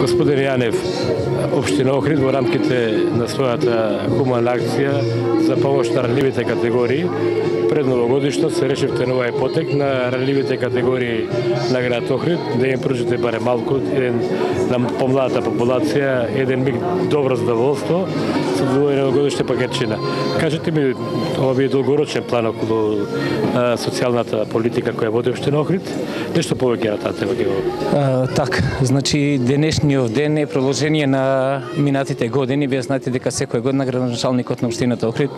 Господин Јанев, општина Охрид во рамките на својата хумана акција за помош на ранливите категории пред новогодишно се решивте на овај потек на ранливите категории на град Охрид да им пружите барем малку на помладата популација еден миг добро задоволство со овој новогодишна пакетчина. Кажете ми, ова би долгорочен план околу социјалната политика која води општина Охрид? Нешто повеќе на таа тема? Така, значи денешниот ден е продолжение на минатите години. Вие знаете дека секоја година градоначалникот на општината Охрид,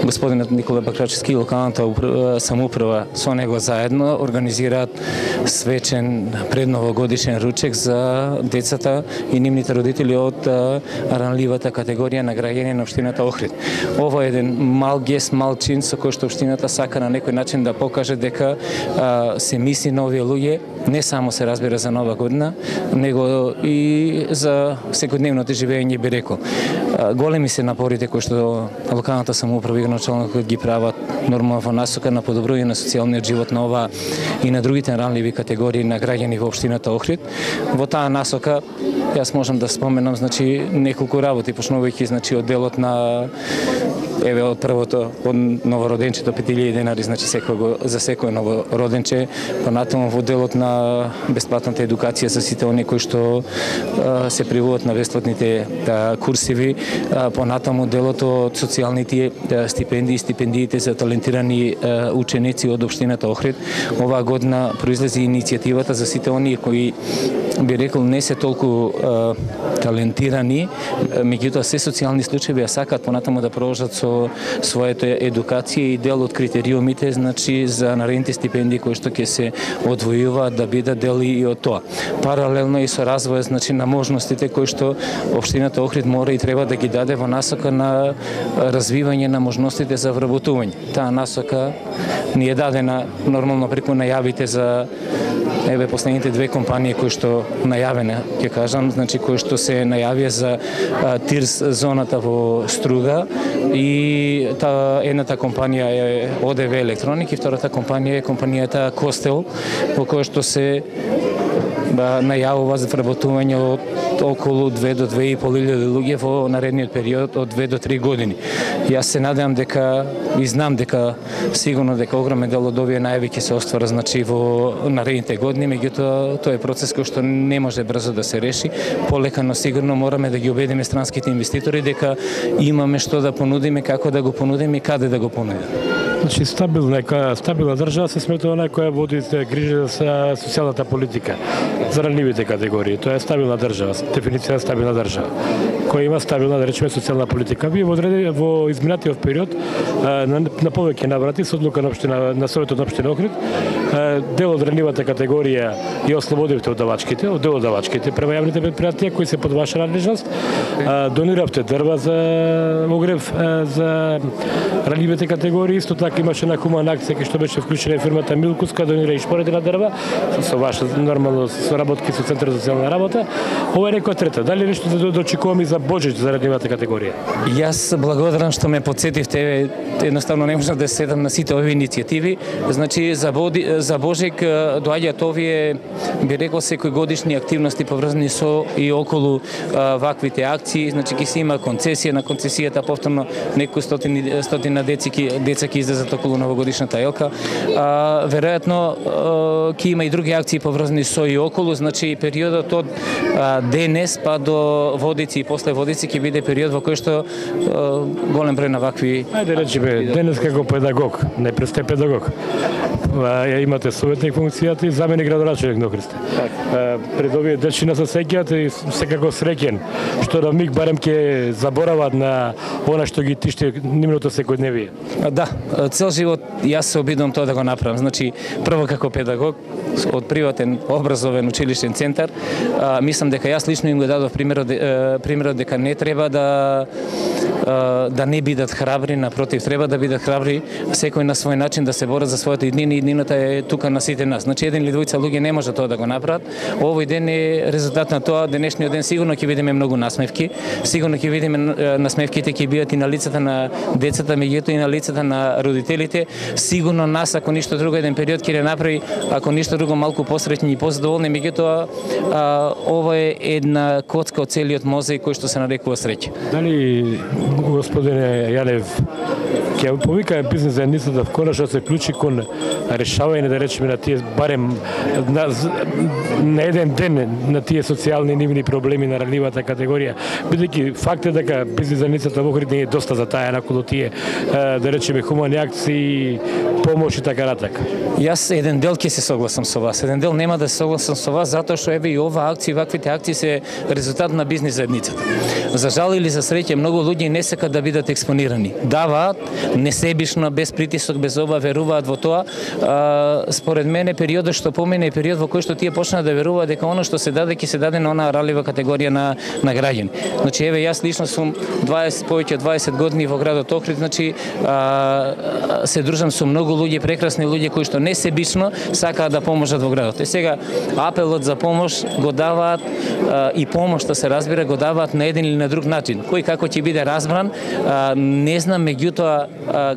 господинот Никола Бакрачевски и локалната самоуправа со него заедно организираат свечен предновогодишен ручек за децата и нивните родители од ранливата категорија на граѓани на општината Охрид. Ова е еден мал гест, мал чин со кој што општината сака на некој начин да покаже дека се мисли на овие луѓе, не само се разбира за нова година, него и за секојдневното живење, би рекол. Големи се напорите кои што локалната самоуправа и градоначалникот ги прават нормално во насока на подобрување на социјалниот живот на ова и на другите ранливи категории на граѓани во општината Охрид. Во таа насока јас можам да споменам неколку работи, почнувајќи од делот на од првото од новороденчето 5000 денари, за секој новороденче, понатаму во делот на бесплатната едукација за сите оние кои што се привуват на бесплатните курсиви, понатаму делот од социјалните стипендии, стипендиите за талентирани ученици од општината Охрид. Оваа година произлезе иницијативата за сите оние кои, би рекол, не се толку талентирани, меѓутоа се социјални случаи, а сакаат понатаму да продолжат со својата едукација и дел од критериумите, за наредните стипендии кои што ќе се одвојуваат да бидат дел и од тоа. Паралелно и со развојот на можностите кои што општината Охрид мора и треба да ги даде во насока на развивање на можностите за вработување. Таа насока ни е дадена нормално преку најавите за последните две компании кои што најавена, ќе кажам, кои што се најавија за ТИРС зоната во Струга, и едната компанија е ОДВ Електроник и втората компанија е компанијата Костел, во која што се најавува за вработување од околу 2 до 2.500 луѓе во наредниот период од 2 до 3 години. Јас се надевам дека и знам дека сигурно дека огромен дел од овие најави ќе се оствара во наредните години, меѓутоа тоа е процес кој што не може брзо да се реши. Полека, но сигурно мораме да ги убедиме странските инвеститори дека имаме што да понудиме, како да го понудиме и каде да го понудиме. Значи стабилна држава се сметува која води грижа за социјалната политика за ранливите категории. Тоа е стабилна држава, дефиниција на стабилна држава, која има стабилна, да речеме, социјална политика. Вие во изминатиот период на повеќе наврати со одлука на Советот на општина Охрид дел од ранливата категорија и ослободивте од дел од давачките према јавните предпријатија кои се под ваша надлежност. Дониравте дрва за огрев за ранливите категории. Исто така имаше на хумана акција која што беше вклучена фирмата Милкус, која донира и шпоредина дрва со ваша нормално соработки со Центарот за социјална работа. Ова е некоја трета. Дали нешто да дочекуваме за Божич за ранливата категорија? Јас благодарам што ме потсетивте. Едноставно не можам да седам на сите овие иницијативи. За Божик доаѓаат овие, би рекол, секој годишни активности поврзани со и околу ваквите акции. Ќе се има концесија, на концесијата повторно некои стотина деца ќе излезат околу новогодишната елка. Веројатно ќе има и други акции поврзани со и околу, периодот од денес па до Водици и после Водици ќе биде период во кој што голем број на вакви... Ајде речеме, денес како педагог, најпред сте педагог. Имате советник функцијата и заменик градоначалник на Охрид. Пред овие дечина се сеќаат и секако среќен што на миг барем ќе заборават на она што ги тишти нивното секојдневие. Да, цел живот јас се обидувам тоа да го направам. Прво како педагог од приватен образовен училиштен центар, мислам дека јас лично им го дадов примерот дека не треба да да не бидат храбри, напротив, треба да бидат храбри, секој на свој начин да се борат за својата иднина и иднината е тука на сите нас. Значи еден или двојца луѓе не може тоа да го направат. Овој ден е резултат на тоа, денешниот ден сигурно ќе видиме многу насмевки, сигурно ќе видиме насмевките ќе бидат и на лицата на децата, меѓутоа и на лицата на родителите. Сигурно нас, ако ништо друго, еден период ќе направи, ако ништо друго, малку посреќни и позадоволни, меѓутоа ова е една коцка од целиот мозаик кој што се нарекува среќа. Дали господине Јанев ќе повика бизнес заедницата конечно се вклучи кон решавање, да речеме, на тие барем на еден ден на тие социјални нивни проблеми на ранливата категорија, бидејќи факт е дека бизнес заедницата во Охрид не е доста затаена околу тие, да речеме, хумани акции, помош и така натака. Јас еден дел ќе се согласам со вас, еден дел нема да се согласам со вас, затоа што еве и ова акција, ваквите акции се резултат на бизнес заедницата. За жал или за среќа, многу луѓе не сакат да бидат експонирани. Даваат несебично, без притисок, без оба, веруваат во тоа. Според мене периодот што помине е период во кој што тие почнаа да веруваат дека она што се даде ќе се даде на онаа ралива категорија на граѓани. Значи еве јас лично сум повеќе од 20 години во градот Охрид, значи се дружам со многу луѓе, прекрасни луѓе кои што несебично сакаат да поможат во градот. И сега апелот за помош го даваат и помошта се разбира го даваат на еден или на друг начин. Кој како ќе биде разбран, не знам, меѓутоа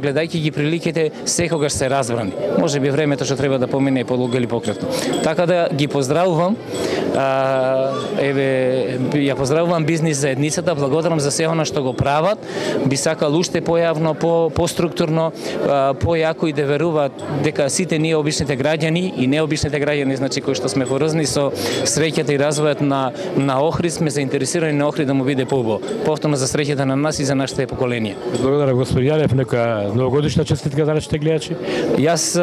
гледајќи ги приликите секогаш се разбрани. Може би времето што треба да помине подолго или пократно. Така да ги поздравувам, ја поздравувам бизнес заедницата, благодарам за се она што го прават. Би сакал уште појавно, поструктурно, појако и да веруваат дека сите ние обичните граѓани и необичните граѓани, значи кои што сме поврзани со среќата и развојот на Охрид, сме заинтересирани на Охрид да му биде поубаво. Повторно за среќата на нас и за нашите поколенија. Благодарам господин Јанев, нека новогодишна честитка за нашите гледачи. Јас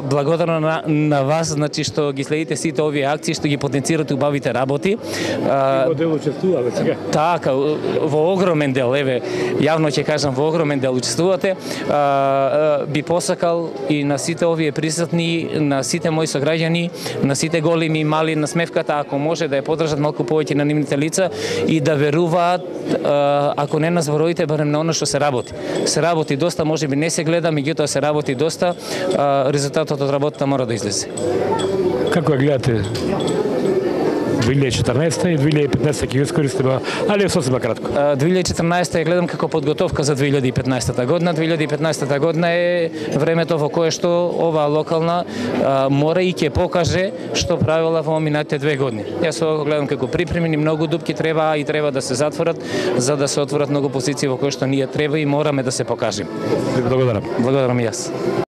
благодарам на вас, значи што ги следите сите овие акции, што ги потенцирате убавите работи. Во дел учествуваме сега. Така, во огромен дел, еве, јавно ќе кажам, во огромен дел учествувате. Би посакал и на сите овие присутни, на сите мои сограѓани, на сите големи и мали, на смевката, ако може да ја подржат малку повеќе на нивните лица и да веруваат, ако не на зборовите, барем на оно што се работи. Се работи доста, можеби не се гледа, меѓутоа се работи доста, резултатот од работата мора да излезе. Како ја гледате 2014 и 2015 ќе искористиме, али сосема кратко. 2014 ја гледам како подготовка за 2015 година. 2015 година е времето во кое што оваа локална мора и ќе покаже што правила во минатите 2 години. Јас ова го гледам како припремени, многу дупки треба да се затворат за да се отворат многу позиции во кои што ние треба и мораме да се покажеме. Благодарам. Благодарам и јас.